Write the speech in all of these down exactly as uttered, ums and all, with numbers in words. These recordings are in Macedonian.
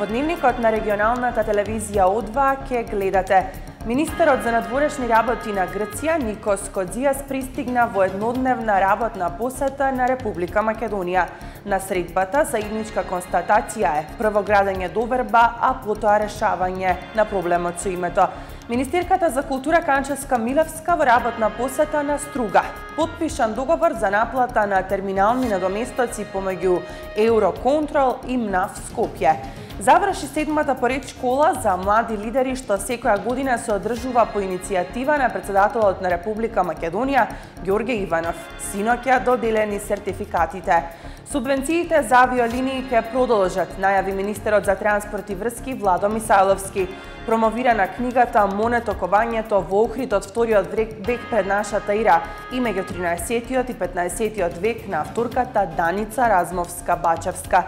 Во дневникот на регионалната телевизија О два ке гледате. Министерот за надворешни работи на Грција Никос Кодзијас пристигна во еднодневна работна посета на Република Македонија. На средбата заедничка констатација е прво градење доверба, а потоа решавање на проблемот со името. Министерката за култура Канчевска Милевска во работна посета на Струга потпишан договор за наплата на терминални надоместоци помеѓу Евроконтрол и МНАФ Скопје. Заврши седмата поред школа за млади лидери што секоја година се одржува по иницијатива на председателот на Република Македонија Ѓорѓе Иванов. Синоќа доделени сертификатите. Субвенциите за авиолинии ќе продолжат, најави министерот за транспорт и врски Владо Мисајловски. Промовирана книгата Монетокувањето во Охридот вториот век пред нашата ера и меѓу тринаесеттиот и петнаесеттиот век на авторката Даница Размовска-Бачевска.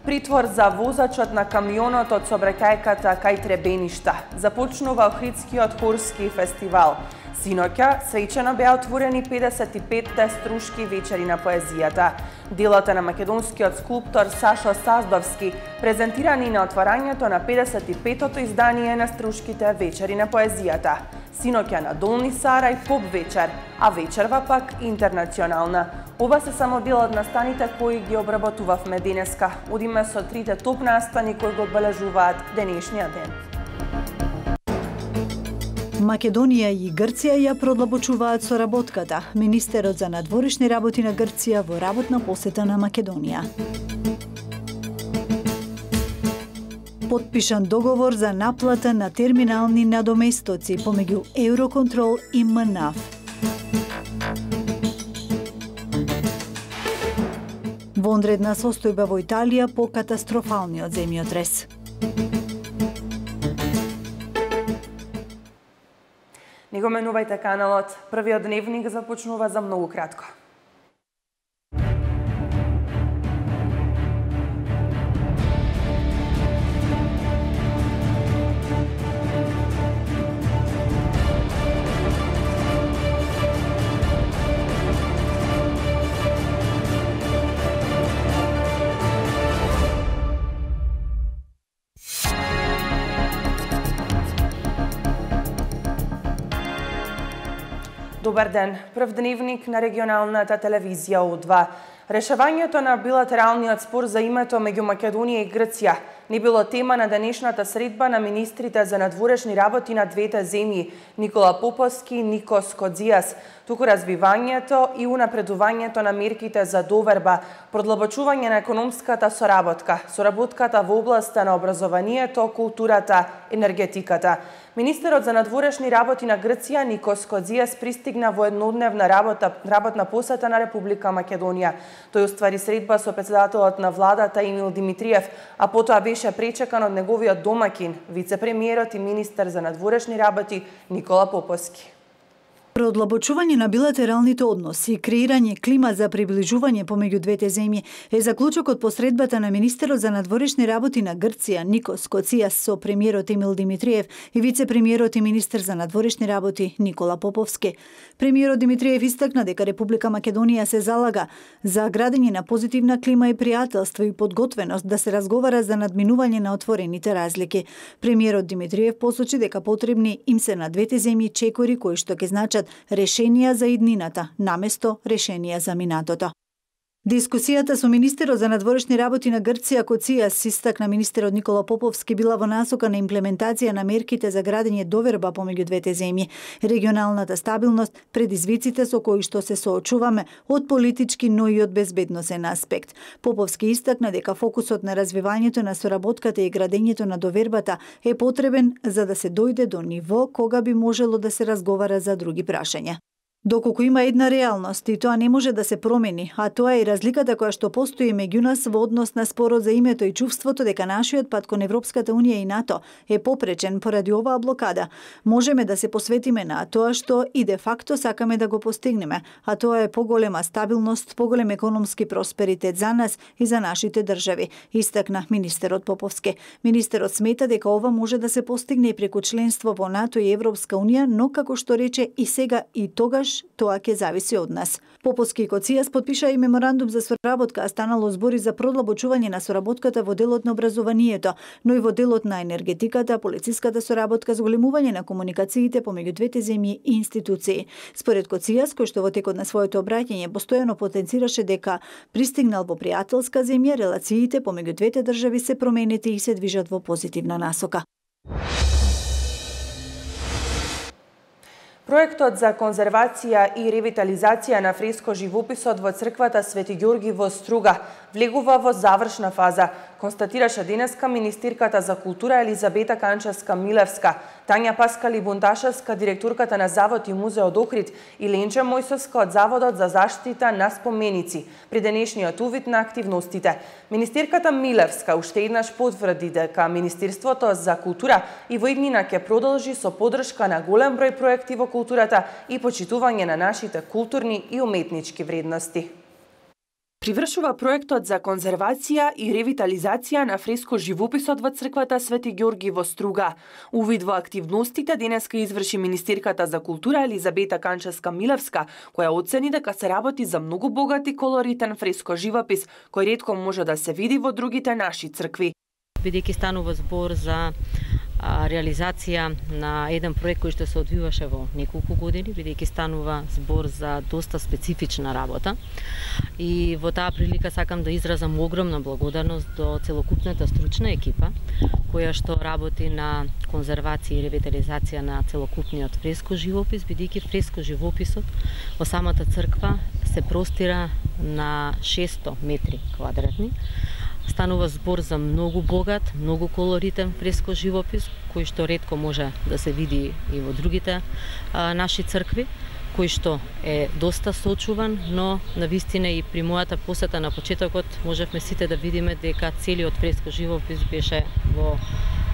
Притвор за возачот на камионот од сообраќајката кај Требеништа. Започнува Охридскиот хорски фестивал. Синоќа свечено беа отворени педесет и петте струшки вечери на поезијата. Делата на македонскиот скулптор Сашо Саздовски презентирани на отварањето на педесет и петото издание на струшките вечери на поезијата. Синоќа на Долни Сарај поп вечер, а вечерва пак интернационална. Ова се само дел од настаните кои ги обработувавме денеска. Одиме со трите топ настани кои го одбележуваат денешниот ден. Македонија и Грција ја продлабочуваат соработката. Министерот за надворешни работи на Грција во работна посета на Македонија. Потпишан договор за наплата на терминални надоместоци помеѓу Евроконтрол и МНАФ. Вонредна состојба во Италија по катастрофалниот земјотрес. Не го менувајте каналот. Првиот дневник започнува за многу кратко. Добар ден. Прв дневник на регионалната телевизија О два. Решавањето на билатералниот спор за името меѓу Македонија и Грција не било тема на денешната средба на министрите за надворешни работи на двете земји Никола Поповски и Никос Кодзијас, туку развивањето и унапредувањето на мерките за доверба, продлабочување на економската соработка, соработката во областа на образованието, културата, енергетиката. Министерот за надворешни работи на Грција Никос Кодзијас пристигна во еднодневна работа, работна посета на Република Македонија. Тој уствари средба со председателот на владата Емил Димитриев, а потоа беше пречекан од неговиот домакин, вице-премиерот и министер за надворешни работи Никола Поповски. Продлабочување на билатералните односи и креирање клима за приближување помеѓу двете земји е заклучокот по средбата на министерот за надворешни работи на Грција Никос Кодзијас со премиерот Емил Димитриев и вице-премиерот и министер за надворешни работи Никола Поповски. Премиерот Димитриев истакна дека Република Македонија се залага за градење на позитивна клима и пријателство и подготвеност да се разговара за надминување на отворените разлики. Премиерот Димитриев посочи дека потребни им се на двете земји чекори кои што ќе значат решенија за иднината, наместо решенија за минатото. Дискусијата со министерот за надворешни работи на Грција Кодзијас истакна министерот Никола Поповски била во насока на имплементација на мерките за градење доверба помеѓу двете земји, регионалната стабилност, предизвиците со кои што се соочуваме од политички, но и од безбедносен аспект. Поповски истакна дека фокусот на развивањето на соработката и градењето на довербата е потребен за да се дојде до ниво кога би можело да се разговара за други прашања. Доколку има една реалност и тоа не може да се промени, а тоа е и разликата која што постои меѓу нас во однос на спорот за името и чувството дека нашиот пат кон Европската унија и НАТО е попречен поради оваа блокада, можеме да се посветиме на тоа што и де факто сакаме да го постигнеме, а тоа е поголема стабилност, поголем економски просперитет за нас и за нашите држави, истакна министерот Поповски. Министерот смета дека ова може да се постигне и преку членство во НАТО и Европска унија, но како што рече и сега и тогаш тогаш тоа ќе зависи од нас. Поповски и Коцијас подпишаа и меморандум за соработка, а станало збори за продлабочување на соработката во делот на образованието, но и во делот на енергетиката, полициската соработка, зголемување на комуникациите помеѓу двете земји и институции. Според Коцијас, кој што во текот на своето обраќање постојано потенцираше дека пристигнал во пријателска земја, релациите помеѓу двете држави се променети и се движат во позитивна насока. Проектот за конзервација и ревитализација на фреско-живописот во црквата Свети Ѓорги во Струга влегува во завршна фаза, констатираше денеска министерката за култура Елизабета Канчевска-Милевска, Тања Паскали-Бунташевска, директорката на Завод и музеј од Охрид, и Ленче Мојсовска од Заводот за заштита на споменици, при денешниот увид на активностите. Министерката Милевска уште еднаш потврди дека Министерството за култура и во иднина ќе продолжи со поддршка на голем број проекти во културата и почитување на нашите културни и уметнички вредности. Привршува проектот за конзервација и ревитализација на фреско-живописот во црквата Свети Ѓорги во Струга. Увид во активностите денеска изврши министерката за култура Елизабета Канчевска-Милевска, која оцени дека се работи за многу богат и колоритен фреско-живопис, кој ретко може да се види во другите наши цркви. Бидејќи станува збор за а, реализација на еден проект кој што се одвиваше во неколку години, бидејќи станува збор за доста специфична работа. И во таа прилика сакам да изразам огромна благодарност до целокупната стручна екипа која што работи на конзервација и ревитализација на целокупниот фреско-живопис, бидејќи фреско-живописот во самата црква се простира на шесто метри квадратни. Станува збор за многу богат, многу колоритен фреско-живопис, кој што ретко може да се види и во другите а, наши цркви, кој што е доста сочуван, но навистина и при мојата посета на почетокот можевме сите да видиме дека целиот фреско-живопис беше во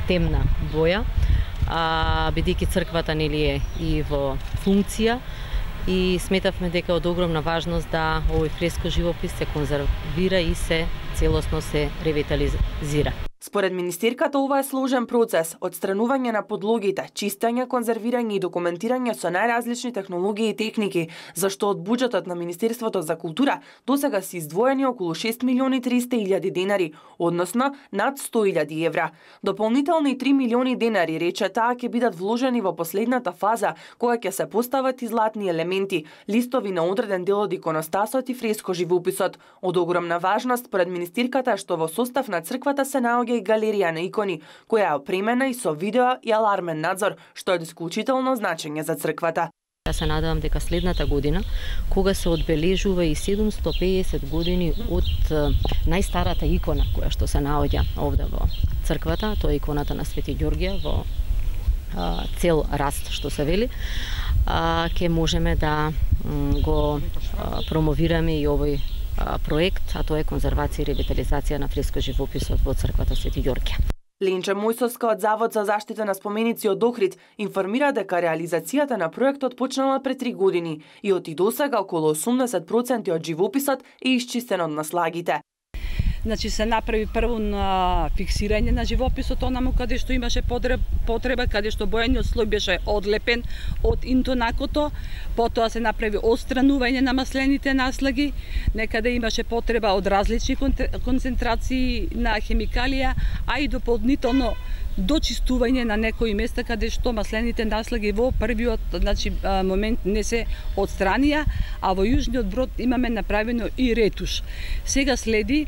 темна боја, а, бидејќи црквата нели е и во функција, и сметавме дека од огромна важност да овој фреско-живопис се конзервира и се целосно се ревитализира. Според министерката, ова е сложен процес, одстранување на подлогите, чистење, конзервирање и документирање со најразлични технологии и техники, зашто од буџетот на Министерството за култура досега се издвоени околу шест милиони триста илјади денари, односно над сто илјади евра. Дополнителни три милиони денари, рече таа, ќе бидат вложени во последната фаза, кога ќе се постават и златни елементи, листови на одреден дел од иконостасот и фреско-живописот. Од огромна важност, според министерката, што во состав на црквата се наоѓа и галерија на икони, која е опремена и со видео и алармен надзор, што е од исклучително значење за црквата. Ја се надевам дека следната година, кога се одбележува и седумстото педесет години од најстарата икона која што се наоѓа овде во црквата, тоа е иконата на Свети Ѓоргија во а, цел раст, што се вели, а, ке можеме да м, го а, промовираме и овој проект, а тоа е конзервација и ревитализација на фреско-живописот во црквата Свети Ѓоргија. Ленче Мојсовска од Завод за заштита на споменици од Охрид информира дека реализацијата на проектот почнала пред три години и од и досега околу осумдесет проценти од живописот е исчистен од наслагите. Значи се направи прво на фиксирање на живописот онаму каде што имаше потреба, каде што бојаниот слој беше одлепен од интонакото, потоа се направи отстранување на маслените наслаги, некаде имаше потреба од различни концентрации на хемикалија, а и дополнително дочистување на некои места каде што маслените наслаги во првиот значи, момент не се отстранија, а во јужниот брод имаме направено и ретуш. Сега следи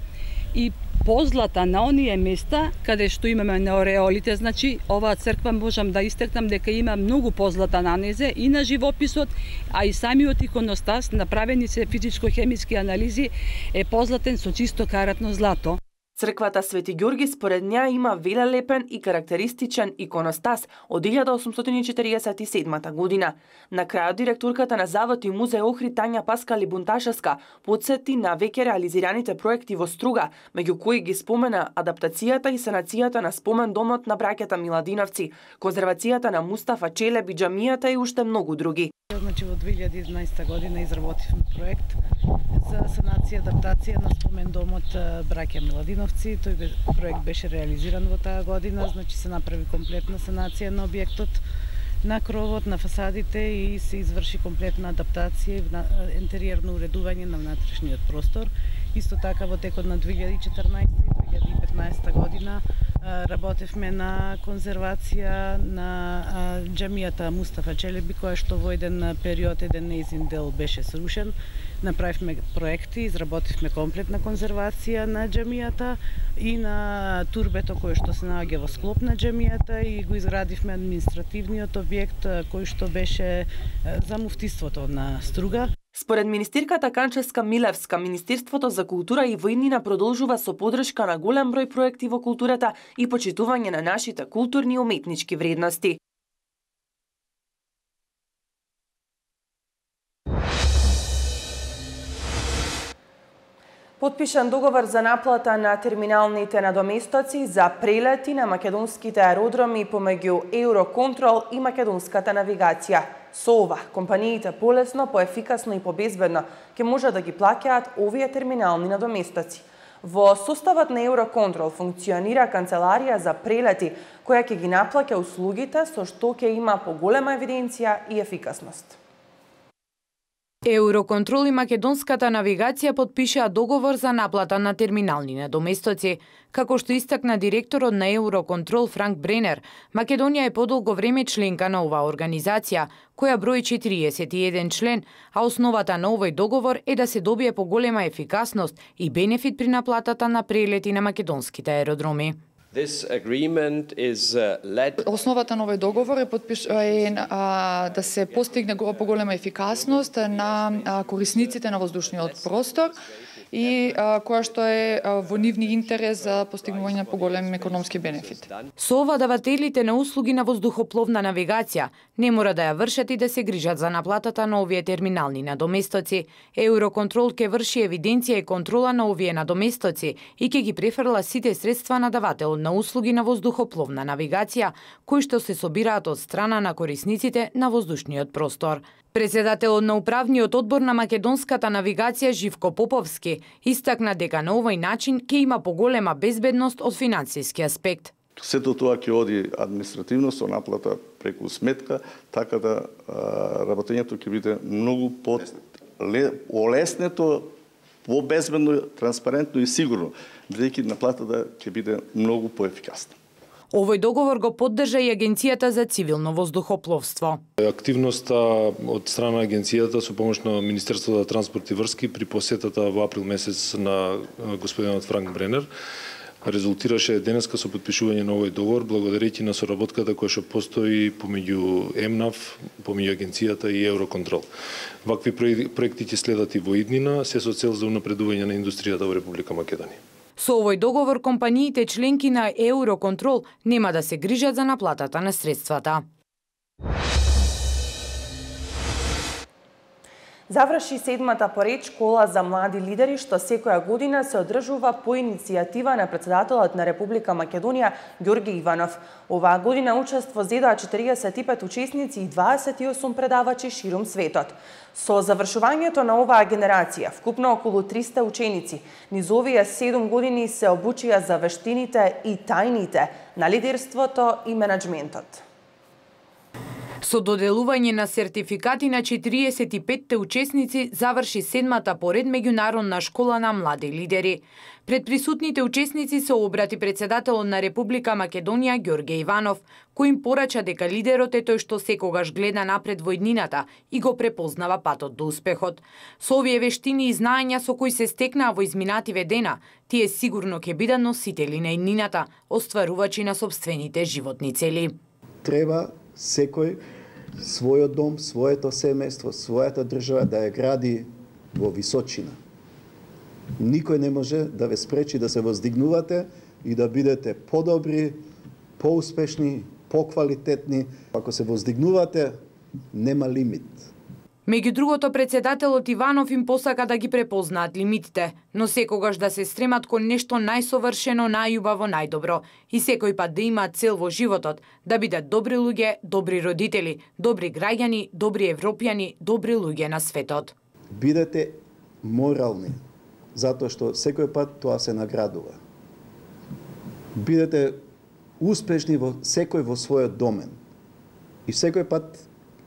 и позлата на оние места каде што имаме неореолите, значи оваа црква можам да истакнам дека има многу позлата на незе и на живописот, а и самиот иконостас, направени се физичко-хемиски анализи, е позлатен со чисто каратно злато. Црквата Свети Ѓорги според неа има велелепен и карактеристичен иконостас од илјада осумстотини четиридесет и седма година. На крајот директорката на Завод и музеј Охрид Тања Паскали-Бунташевска подсети на веќе реализираните проекти во Струга, меѓу кои ги спомена адаптацијата и санацијата на спомен домот на браќата Миладиновци, конзервацијата на Мустафа Челеби џамијата и уште многу други. Значи во две илјади и еднаесета година изработивме проект за санација и адаптација на спомен домот браќа Миладиновци. Тој проект беше реализиран во таа година, значи се направи комплетна санација на објектот. на кровот, на фасадите и се изврши комплетна адаптација и интериерно уредување на внатрешниот простор. Исто така во текот на две илјади и четрнаесета и две илјади и петнаесета година работевме на конзервација на џамијата Мустафа Челеби, која што во еден период еден нејзин дел беше срушен. Направивме проекти, изработивме комплетна конзервација на џамијата и на турбето кое што се наоѓа во склоп на џамијата и го изградивме административниот објект кој што беше за муфтиството на Струга. Според министерката Канческа Милевска, Министерството за култура и воиднина продолжува со поддршка на голем број проекти во културата и почитување на нашите културни и уметнички вредности. Потпишан договор за наплата на терминалните надоместоци за прелети на македонските аеродроми помеѓу Евроконтрол и Македонската навигација. Со ова, компаниите полесно, поефикасно и побезбедно ќе можат да ги плаќаат овие терминални надоместоци. Во составот на Евроконтрол функционира канцеларија за прелети, која ќе ги наплаќа услугите, со што ќе има поголема евиденција и ефикасност. Евроконтрол и Македонската навигација потпишаа договор за наплата на терминални надоместоци. Како што истакна директорот на Евроконтрол Франк Бренер, Македонија е подолго време членка на оваа организација, која брои четириесет и еден член, а основата на овој договор е да се добие поголема ефикасност и бенефит при наплатата на прелети на македонските аеродроми. Основата на овој договор е, подпиш... е а, да се постигне поголема ефикасност на а, корисниците на воздушниот простор и а, која што е а, во нивни интерес за постигнување на поголем економски бенефит. Со ова давателите на услуги на воздухопловна навигација не мора да ја вршат и да се грижат за наплатата на овие терминални надоместоци. Евроконтрол ќе врши евиденција и контрола на овие надоместоци и ќе ги префрла сите средства на давател на услуги на воздухопловна навигација, кои што се собираат од страна на корисниците на воздушниот простор. Председателот на управниот одбор на Македонската навигација Живко Поповски истакна дека на овој начин ќе има поголема безбедност од финансиски аспект. Сето тоа ќе оди административно со наплата преку сметка, така да а, работењето ќе биде многу по олеснето, по-безбедно, транспарентно и сигурно, бидејќи наплатата ќе биде многу поефикасна. Овој договор го поддржа и Агенцијата за цивилно воздухопловство. Активноста од страна на агенцијата со помош на Министерството за транспорт и врски при посетата во април месец на господинот Франк Бренер резултираше денеска со подпишување на овој договор благодарејќи на соработката која што постои помеѓу ЕМНАВ, помеѓу агенцијата и Евроконтрол. Вакви проекти ќе следат и во иднина, се со цел за унапредување на индустријата во Република Македонија. Со овој договор компаниите членки на Евроконтрол нема да се грижат за наплатата на средствата. Заврши седмата поред школа за млади лидери, што секоја година се одржува по иницијатива на председателот на Република Македонија Ѓорѓе Иванов. Оваа година учество зедоа четириесет и пет учесници и дваесет и осум предавачи ширум светот. Со завршувањето на оваа генерација, вкупно околу триста ученици, низ овие седум години се обучија за вештините и тајните на лидерството и менаџментот. Со доделување на сертификати на четириесет и петте учесници заврши седмата поред меѓународна школа на млади лидери. Пред присутните учесници се обрати председателот на Република Македонија Ѓорѓе Иванов, кој им порача дека лидерот е тој што секогаш гледа напред во иднината и го препознава патот до успехот. Со овие вештини и знаења со кои се стекнаа во изминативе дена, тие сигурно ќе бидат носители на иднината, остварувачи на сопствените животни цели. Треба секој својот дом, своето семејство, својата држава да ја гради во височина. Никој не може да ве спречи да се воздигнувате и да бидете подобри, поуспешни, поквалитетни. Ако се воздигнувате, нема лимит. Меѓу другото, председателот Иванов им посака да ги препознаат лимитите, но секогаш да се стремат кон нешто најсовршено, најубаво, најдобро и секој пат да имаат цел во животот, да бидат добри луѓе, добри родители, добри граѓани, добри европјани, добри луѓе на светот. Бидете морални, затоа што секој пат тоа се наградува. Бидете успешни во секој во својот домен. И секој пат,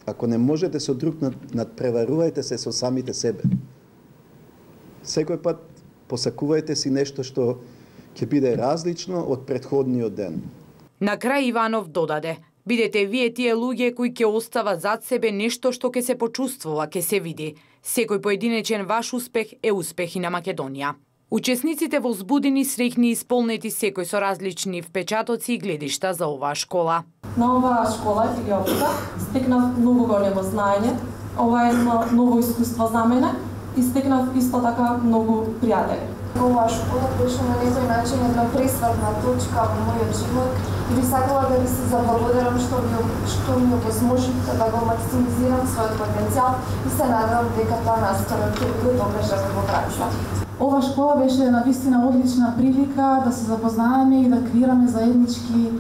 ако не можете со друг надпреварувајте се со самите себе. Секој пат посакувајте си нешто што ќе биде различно од претходниот ден. На крај Иванов додаде: бидете вие тие луѓе кои ќе остават зад себе нешто што ќе се почувствува, ќе се види. Секој поединечен ваш успех е успех и на Македонија. Учесниците возбудени, среќни и исполнети, секој со различни впечатоци и гледишта за оваа школа. На оваа школа филиопика стекнав многу големо знаење. Ова е едно ново искуство за мене и стекнав исто така многу пријатели. Оваа школа беше на некој начин една пресвртна точка во мојот живот и би сакала да ви се заблагодарам што ми што ми овозможивте да го максимизирам својот потенцијал и се надевам дека тоа наскоро ќе го докажам во пракса. Ова школа беше на вистина одлична прилика да се запознаеме и да креираме заеднички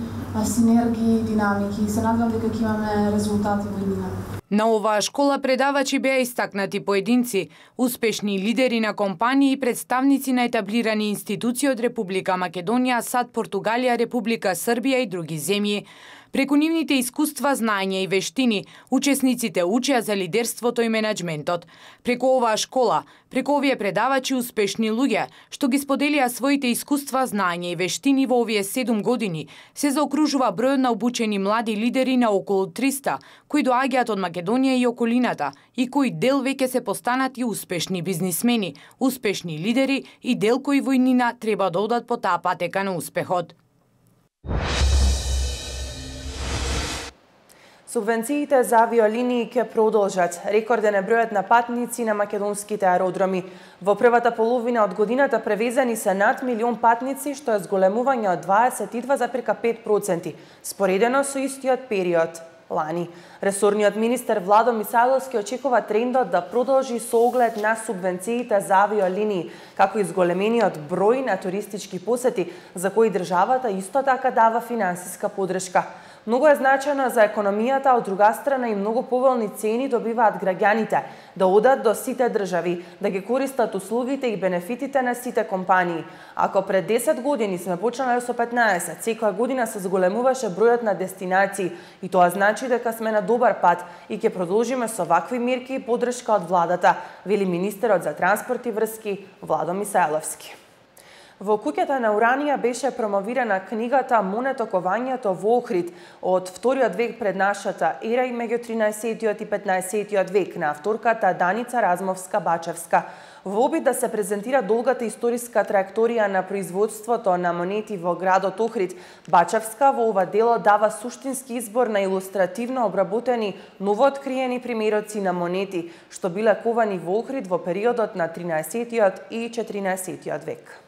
синергии, динамики и се надевам дека ќе имаме резултати во иднина. На оваа школа предавачи беа истакнати поединци, успешни лидери на компании и представници на етаблирани институции од Република Македонија, САД, Португалија, Република Србија и други земји. Преку нивните искуства, знаења и вештини, учесниците учеа за лидерството и менеджментот. Преку оваа школа, преку овие предавачи успешни луѓе, што ги споделија своите искуства, знаења и вештини во овие седум години, се заокружува бројот на обучени млади лидери на околу триста, кои доаѓаат од Македонија и околината, и кои дел веќе се постанати успешни бизнисмени, успешни лидери и дел кои во иднина треба да одат по таа патека на успехот. Субвенциите за авиолинии ќе продолжат. Рекорден е бројот на патници на македонските аеродроми. Во првата половина од годината превезени се над милион патници, што е зголемување од дваесет и два запирка пет проценти, споредено со истиот период лани. Ресорниот министер Владо Мисајловски очекува трендот да продолжи со оглед на субвенциите за авиолинии, како и зголемениот број на туристички посети, за кои државата исто така дава финансиска подршка. Многу е значено за економијата, од друга страна и многу поволни цени добиваат граѓаните да одат до сите држави, да ги користат услугите и бенефитите на сите компании. Ако пред десет години сме почнале со петнаесет, секоја година се зголемуваше бројот на дестинации и тоа значи дека сме на добар пат и ќе продолжиме со вакви мерки и подршка од владата, вели министерот за транспорт и врски Владо Мисајловски. Во куќата на Уранија беше промовирана книгата Монетокованјето во Охрид од вториот век пред нашата ера и меѓу тринаесеттиот и петнаесеттиот век на авторката Даница Размовска-Бачевска. Во обид да се презентира долгата историска траекторија на производството на монети во градот Охрид, Бачевска во ова дело дава суштински избор на илустративно обработени новооткриени примероци на монети, што биле ковани во Охрид во периодот на тринаесеттиот и четиринаесеттиот век.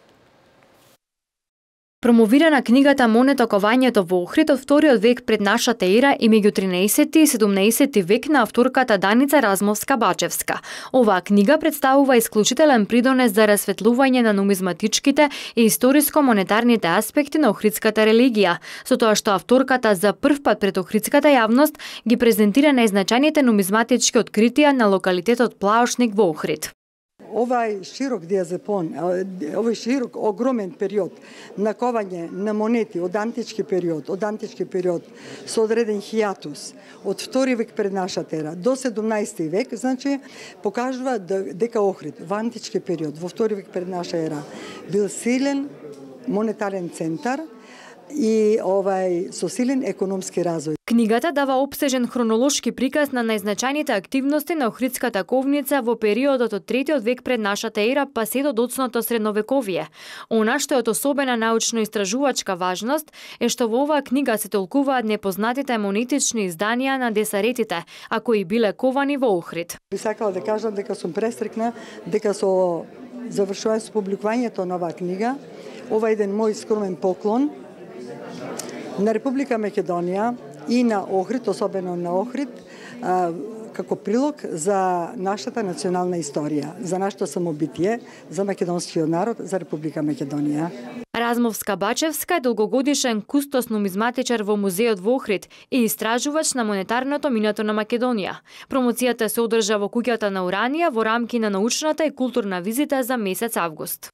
Промовирана книгата Монетокованјето во Охрид од вториот век пред нашата ера и меѓу тринаесетти и седумнаесетти век на авторката Даница Размовска-Бачевска. Оваа книга представува исклучителен придонес за расветлување на нумизматичките и историско-монетарните аспекти на охридската религија, со тоа што авторката за прв пат пред охридската јавност ги презентира најзначајните нумизматички откритија на локалитетот Плаошник во Охрид. Овај широк диазепон, овај широк огромен период на ковање на монети од антички период, од антички период со одреден хијатус од втори век пред нашата ера до седумнаесети век, значи покажува дека Охрид во антички период, во втори век пред наша ера, бил силен монетарен центар и овај со силен економски развој. Книгата дава опсежен хронолошки приказ на најзначајните активности на Охридската ковница во периодот од третиот век пред нашата ера па се до доцното средновековие. Она што е од особена научно-истражувачка важност е што во оваа книга се толкуваат непознатите монетични изданија на десаретите, а кои биле ковани во Охрид. Би сакала да кажам дека сум престрекна дека со завршување со публикувањето на оваа книга, ова е еден мој скромен поклон на Република Македонија и на Охрид, особено на Охрид, како прилог за нашата национална историја, за нашето самобитие, за македонскиот народ, за Република Македонија. Размовска-Бачевска е долгогодишен кустос нумизматичар во музеот во Охрид и истражувач на монетарното минато на Македонија. Промоцијата се одржа во куќата на Уранија во рамки на научната и културна визита за месец август.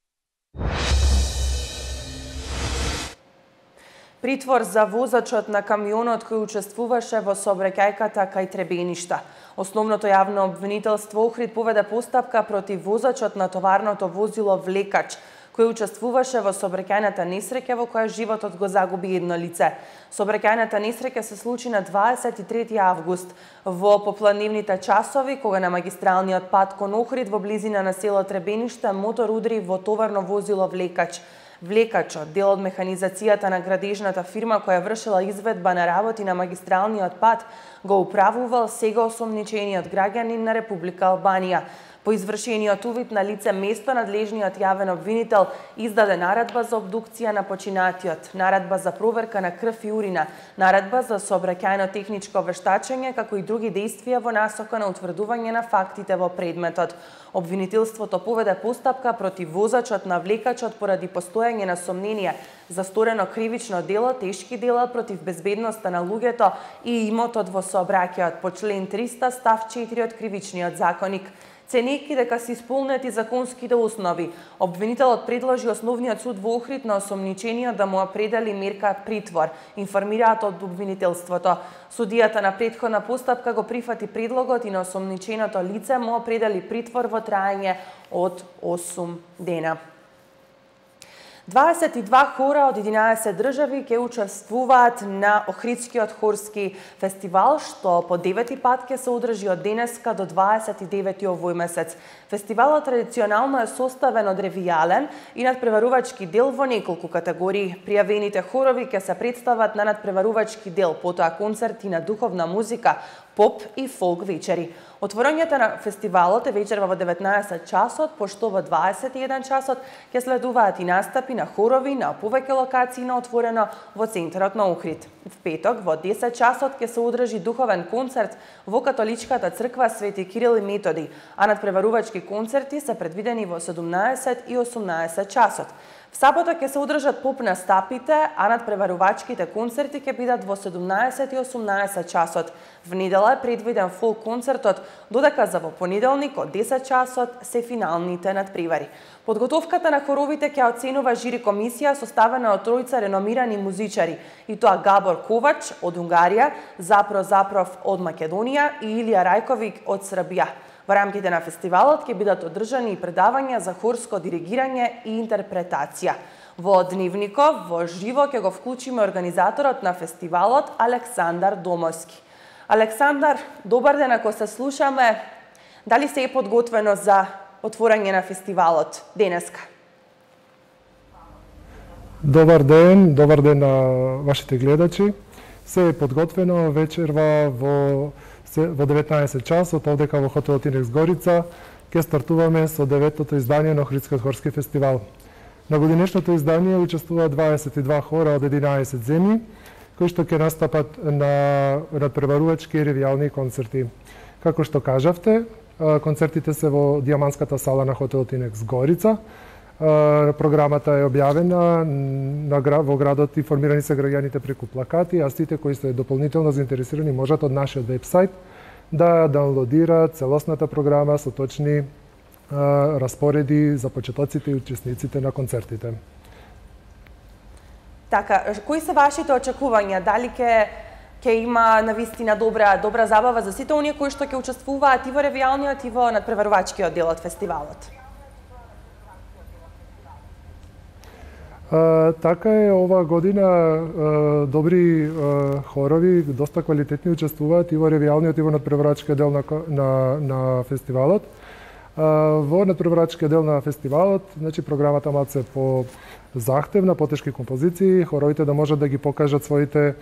Притвор за возачот на камионот кој учествуваше во сообраќајката кај Требеништа. Основното јавно обвинителство Охрид поведе постапка против возачот на товарното возило Влекач, кој учествуваше во сообраќајната несреќа во која животот го загуби едно лице. Сообраќајната несреќа се случи на дваесет и трети август во попладневните часови, кога на магистралниот пат кон Охрид во близина на село Требениште мотор удри во товарно возило Влекач. Влекачот, дел од механизацијата на градежната фирма која вршила изведба на работи на магистралниот пат, го управувал сега осомничениот граѓанин на Република Албанија. По извршениот увид на лице место, надлежниот јавен обвинител издаде наредба за обдукција на починатиот, наредба за проверка на крв и урина, наредба за сообраќајно техничко вештачење, како и други действија во насока на утврдување на фактите во предметот. Обвинителството поведе постапка против возачот на Влекачот поради постојање на сомнение за сторено кривично дело, тешки дела против безбедноста на луѓето и имотот во сообраќајот по член триста став четири од Кривичниот законник. Ценејќи дека се исполнети законските основи, обвинителот предложи Основниот суд во Охрид на осомничениот да му определи мерка притвор, информираат од обвинителството. Судијата на претходна постапка го прифати предлогот и на осомниченото лице му определи притвор во траење од осум дена. дваесет и два хора од единаесет држави ќе учествуваат на Охридскиот хорски фестивал, што по девети пат ќе се одржи од денеска до дваесет и девети овој месец. Фестивалот традиционално е составен од ревијален и надпреварувачки дел во неколку категории. Пријавените хорови ќе се представат на надпреварувачки дел, потоа концерти на духовна музика, поп и фолк вечери. Отворањето на фестивалот е вечерва во деветнаесет часот, пошто во дваесет и еден часот ќе следуваат и настапи на хорови на повеќе локации на отворено во центарот на Охрид. В петок во десет часот ќе се одржи духовен концерт во католичката црква Свети Кирил и Методи, а надпреварувачки концерти се предвидени во седумнаесет и осумнаесет часот. В сабота ќе се одржат поп настапите, а надпреварувачките концерти ќе бидат во седумнаесет и осумнаесет часот. В недела е предвиден фолк концертот, додека за во понеделник од десет часот се финалните надпревари. Подготовката на хоровите ќе оценува жири комисија составена од тројца реномирани музичари, и тоа Габор Ковач од Унгарија, Запро Запров од Македонија и Илија Рајковик од Србија. Во рамките на фестивалот ќе бидат одржани и предавања за хорско диригирање и интерпретација. Во дневников во живо ќе го вклучиме организаторот на фестивалот Александар Домовски. Александар, добар ден, ако се слушаме, дали се е подготвено за отворање на фестивалот денеска? Добар ден, добар ден на вашите гледачи. Се е подготвено вечерва во во деветнаесет часот овдека во хотел Тинекс Горица ќе стартуваме со деветото издание на Охридскиот хорски фестивал. На годинешното издание учествуваат дваесет и два хора од единаесет земји, кои што ќе настапат на надпреварувачки и ревијални концерти. Како што кажавте, концертите се во Диаманската сала на хотел Тинекс Горица. Програмата е објавена во градот, информирани се граѓаните преку плакати, а сите кои се дополнително заинтересирани можат од нашиот вебсайт да даунлодираат целосната програма со точни распореди за почетоците и учесниците на концертите. Така, кои се вашите очекувања? Дали ќе ќе има навистина добра добра забава за сите оние кои што ќе учествуваат и во ревијалниот и во надпреварувачкиот дел од фестивалот? А, така е, ова година а, добри а, хорови, доста квалитетни учествуваат и во ревијалниот и во надпреварувачкиот дел на, на, на фестивалот. А, во надпреварувачкиот дел на фестивалот, значи програмата малце по захтевна, потешки композиции, хоровите да можат да ги покажат своите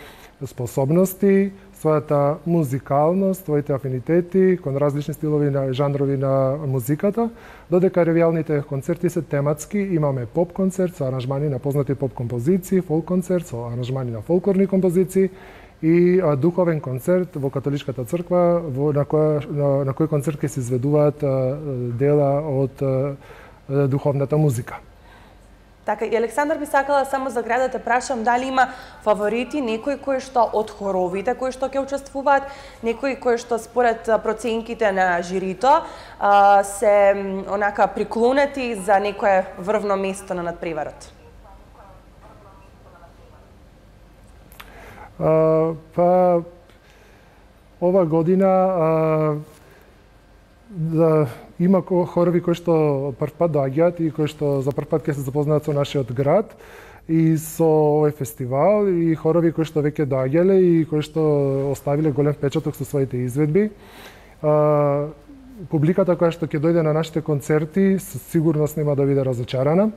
способности, својата музикалност, своите афинитети кон различни стилови на жанрови на музиката, додека ревијалните концерти се тематски. Имаме поп концерт со аранжмани на познати поп композиции, фолк концерт со аранжмани на фолклорни композиции и а, духовен концерт во католичката црква, во, на, која, на, на кој концерт ќе се изведуваат а, дела од а, духовната музика. Така, и Александар би сакала само за градот да прашам дали има фаворити, некои кои што од хоровите кои што ќе учествуваат, некои кои што според проценките на жирито се онака приклонети за некое врвно место на надпреварот. Па ова година да има хорови кои што прв пат доаѓаат и кои што за прв пат ќе се запознаат со нашиот град и со овој фестивал, и хорови кои што веќе доаѓале и кои што оставиле голем впечаток со своите изведби. Публиката која што ќе дојде на нашите концерти со сигурност нема да биде разочарана.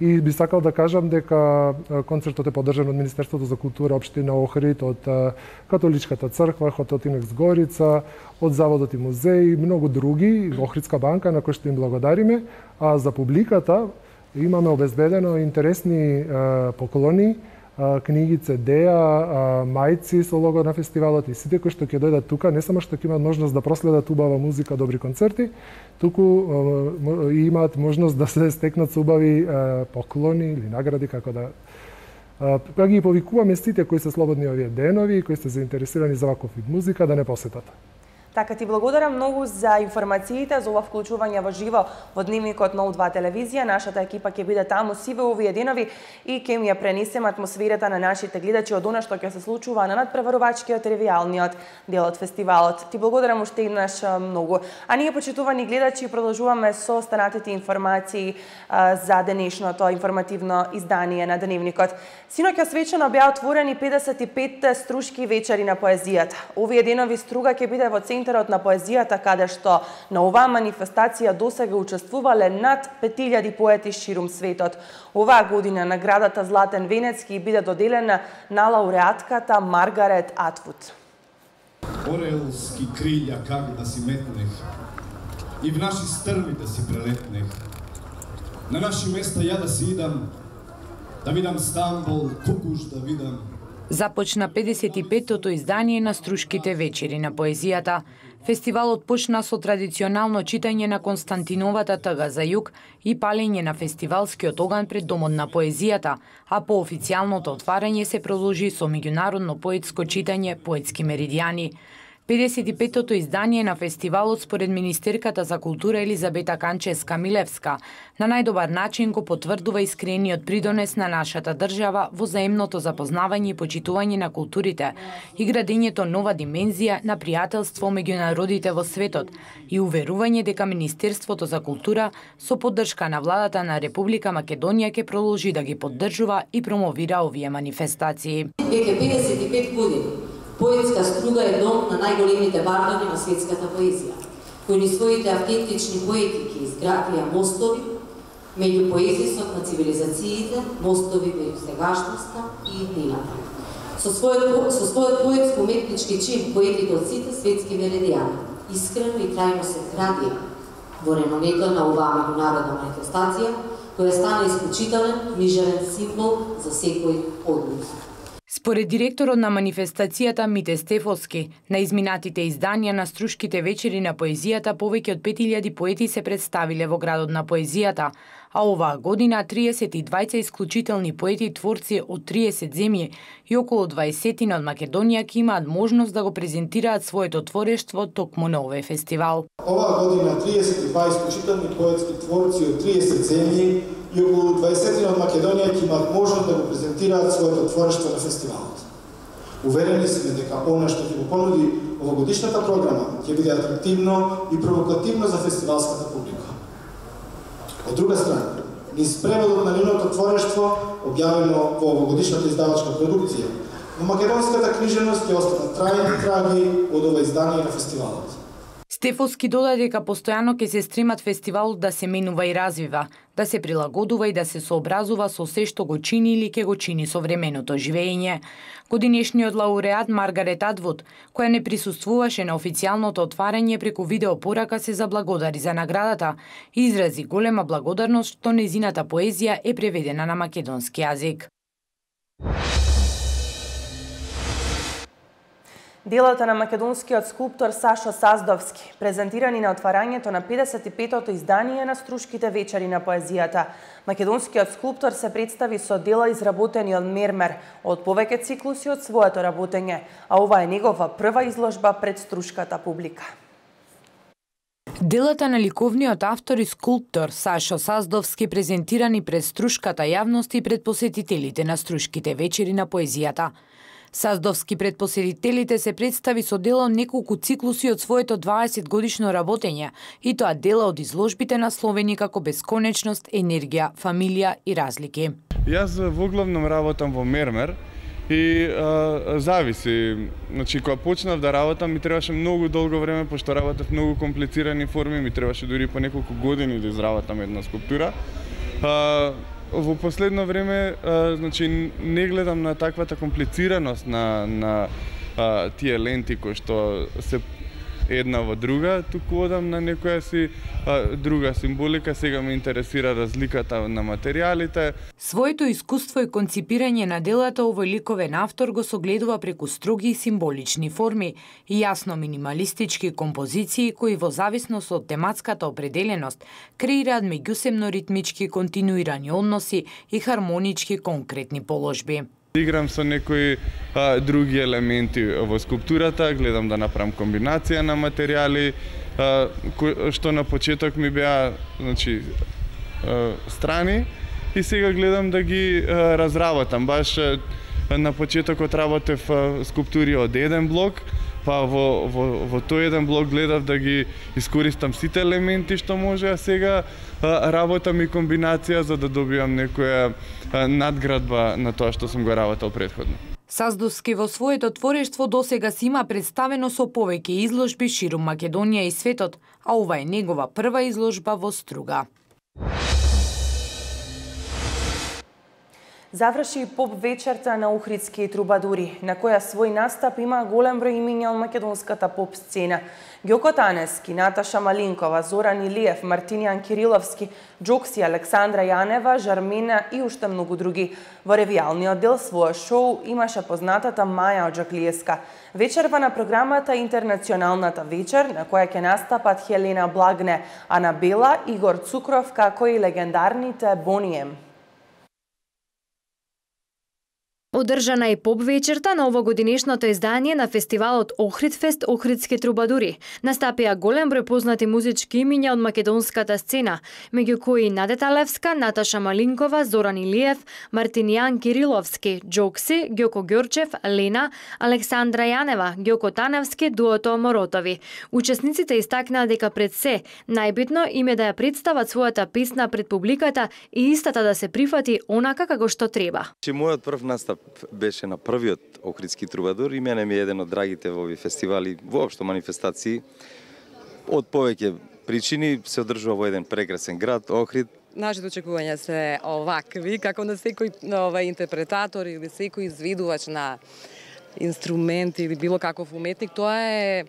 И би сакал да кажам дека концертот е поддржан од Министерството за култура општина Охрид, од Католичката црква, хотел Тинекс Горица, од Заводот и музеи и многу други, Охридска банка на кој што им благодариме. А за публиката имаме обезбедено интересни поклони, книги, цедеа, мајци со лого на фестивалот, и сите кои што ќе дојдат тука не само што ќе имаат можност да проследат убава музика, добри концерти, туку и имаат можност да се стекнат со убави поклони или награди, како да па ги повикуваме сите кои се слободни овие денови и кои се заинтересирани за ваков вид музика да не посетат. Така ти благодарам многу за информациите, за ова вклучување во живо во дневникот на У два телевизија. Нашата екипа ќе биде таму сиве овие денови и ќе ми ја пренесеме атмосферата на нашите гледачи од она што ќе се случува на надпреварувачкиот ревијалниот дел од фестивалот. Ти благодарам уште еднаш многу. А ние, почитувани гледачи, продолжуваме со останатите информации за денешното информативно издание на дневникот. Синоќа свечено беа отворени педесет и петте струшки вечери на поезијата. Овие денови Струга ќе биде во центарот на поезијата, каде што на оваа манифестација досега учествувале над пет илјади поети ширум светот. Оваа година наградата Златен венец ќе биде доделена на лауреатката Маргарет Атвуд. Орелски крилја как да си метнех и в наши стрми да си прелетнех. На наши места ја да си идам, да видам Стамбул, Кукуш да видам. Започна педесет и петтото издание на Струшките вечери на поезијата. Фестивалот почна со традиционално читање на Константиновата тага за југ и палење на фестивалскиот оган пред Домот на поезијата, а по официјалното отварање се продолжи со меѓународно поетско читање Поетски меридијани. педесет и петтото издание на фестивалот според министерката за култура Елизабета Канчевска-Милевска на најдобар начин го потврдува искрениот придонес на нашата држава во заемното запознавање и почитување на културите и градењето нова димензија на пријателство меѓу народите во светот и уверување дека Министерството за култура со поддршка на владата на Република Македонија ќе продолжи да ги поддржува и промовира овие манифестации. Веќе педесет и пет години Поетска Струга е дом на најголемите бардови на светската поезија, кои ни своите автентични поетики изградија мостови меѓу поезисот на цивилизациите, мостови меѓу сегашноста и иднината. Со својот, со својот поетско-уметнички чин поетите од сите светски меридијани искрено и трајно се градија во реномето на оваа меѓународна манифестација, која стана исклучителен книжевен символ за секој од нив. Според директорот на манифестацијата Мите Стефовски, на изминатите изданија на Струшките вечери на поезијата повеќе од пет илјади поети се представиле во градот на поезијата, а оваа година триесет и двајца исклучителни поети и творци од триесет земји и околу дваесет од Македонија ќе имаат можност да го презентираат своето творештво токму на овој фестивал. Оваа година триесет и два исклучителни поетски творци од триесет земји и околу дваесет од Македонија ќе имаат можност да го презентираат своето творештво на фестивалот. Уверени сме дека она што ќе го понуди овогодишната програма ќе биде атрактивно и провокативно за фестивалската публика. Од друга страна, низ преводот на нивното творештво, објавено во овогодишната издавачка продукција, во македонската книжевност ќе останат трајни траги од ова издание на фестивалот. Стефовски додаде дека постојано ќе се стремат фестивалот да се менува и развива, да се прилагодува и да се сообразува со се што го чини или ќе го чини современото живење. Годинешниот лауреат Маргарет Атвуд, која не присуствуваше на официјалното отварање, преку видеопорака се заблагодари за наградата и изрази голема благодарност што незината поезија е преведена на македонски јазик. Делата на македонскиот скулптор Сашо Саздовски, презентирани на отварањето на педесет и петото издание на Струшките вечери на поезијата. Македонскиот скулптор се представи со дела изработени од мермер, од повеќе циклуси од своето работење, а ова е негова прва изложба пред струшката публика. Делата на ликовниот автор и скулптор Сашо Саздовски презентирани пред струшката јавност и пред посетителите на Струшките вечери на поезијата. Саздовски пред посетителите се представи со дела од неколку циклуси од своето дваесет годишно работење, и тоа дела од изложбите насловени како бесконечност, енергија, фамилија и разлики. Јас во главном работам во мермер и а, зависи. Значи, кога почнав да работам, ми требаше многу долго време, пошто работев многу комплицирани форми, ми требаше дури по неколку години да изработам една скулптура. А, во последно време, а, значи, не гледам на таквата комплицираност на, на а, тие ленти кои што се една во друга, туку одам на некоја си а, друга символика. Сега ме интересира разликата на материјалите. Своето искуство и конципирање на делата овој ликовен автор го согледува преку строги и символични форми и јасно минималистички композиции кои во зависност од тематската определеност креираат меѓусебно ритмички континуирани односи и хармонички конкретни положби. Играм со некои а, други елементи во скулптурата, гледам да направам комбинација на материјали, а, кои, што на почеток ми беа, значи, а, страни, и сега гледам да ги а, разработам. Баш а, на почетокот работев а, скулптури од еден блок, па во, во, во тој еден блок гледав да ги искористам сите елементи што може, а сега а, работам и комбинација за да добиам некоја а, надградба на тоа што сум го работел претходно. Саздовски во своето творештво досега си има представено со повеќе изложби ширум Македонија и светот, а ова е негова прва изложба во Струга. Заврши поп вечерта на Охридски трубадури, на која свој настап има голем број имиња од македонската поп сцена. Ѓоко Таневски, Наташа Малинкова, Зоран Илиев, Мартинијан Кириловски, Джокси, Александра Јанева, Жармина и уште многу други. Во ревијалниот дел својот шоу имаше познатата Маја Оджаклиевска. Вечерва на програмата Интернационалната вечер, на која ќе настапат Хелена Благне, Анабела, Игор Цукров, како и легендарните Бонием. Одржана е поп вечерта на овогодинешното издание на фестивалот Охридфест Охридски трубадури. Настапија голем број познати музички имиња од македонската сцена, меѓу кои Надета Левска, Наташа Малинкова, Зоран Илиев, Мартинијан Кириловски, Джокси, Ѓоко Ѓорчев, Лена, Александра Јанева, Ѓоко Таневски, дуото Моротови. Учесниците истакнаа дека пред се најбитно им е да ја представат својата песна пред публиката и истата да се прифати онака како што треба. Мојот прв настап беше на првиот Охридски трубадур и мене ми е еден од драгите во овие фестивали, воопшто манифестации. Од повеќе причини се одржува во еден прекрасен град, Охрид. Нашите очекувања се овакви, како на секој ова интерпретатор или секој изведувач на инструмент или било каков уметник, тоа е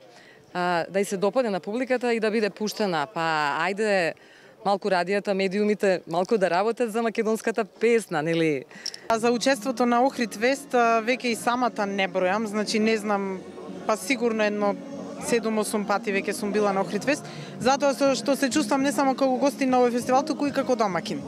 а, да и се допадне на публиката и да биде пуштена. Па ајде малку радијата, медиумите, малку да работат за македонската песна, нели? За учеството на Охридфест веќе и самата не бројам, значи не знам, па сигурно едно седум-осум пати веќе сум била на Охридфест, затоа што се чувствам не само како гостин на овој фестивал, туку и како домакин.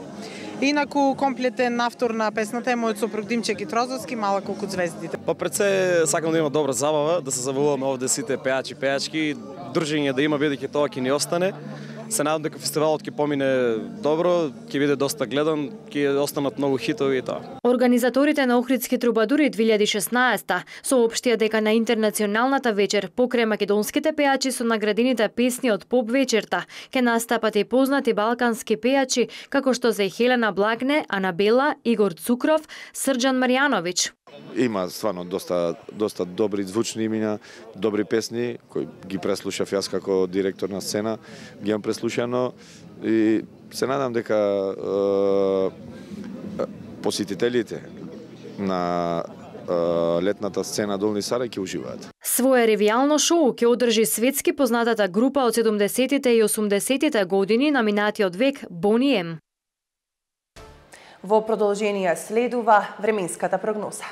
Инаку комплетен автор на песната е мојот сопруг Димче Китрозовски, Мала колку звездите. Па пред се сакам да има добра забава, да се забавуваме овде сите пеачи, пеачки, дружење да има бидејќи тоа ќе ни остане. Се надам дека фестивалот ќе помине добро, ќе биде доста гледан, ќе останат многу хитови и тоа. Организаторите на Охридски трубадури две илјади и шеснаесета соопштија дека на Интернационалната вечер покрај македонските пеачи со наградените песни од поп вечерта ќе настапат и познати балкански пеачи како што се Хелена Благне, Анабела, Игор Цукров, Срџан Марјановиќ. Има стварно доста доста добри звучни имиња, добри песни кои ги преслушав јас како директор на сцена, ги имам преслушано и се надам дека е, посетителите на е, летната сцена Долни Сарај ќе уживаат. Своје ревијално шоу ќе одржи светски познатата група од седумдесетите и осумдесетите години на минатиот век Бонием. Во продолжение следува временската прогноза.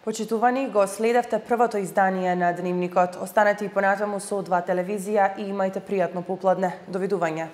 Почитувани, го следевте првото издание на Дневникот. Останете и понатаму со О два телевизија и имајте пријатно попладне. Довидување.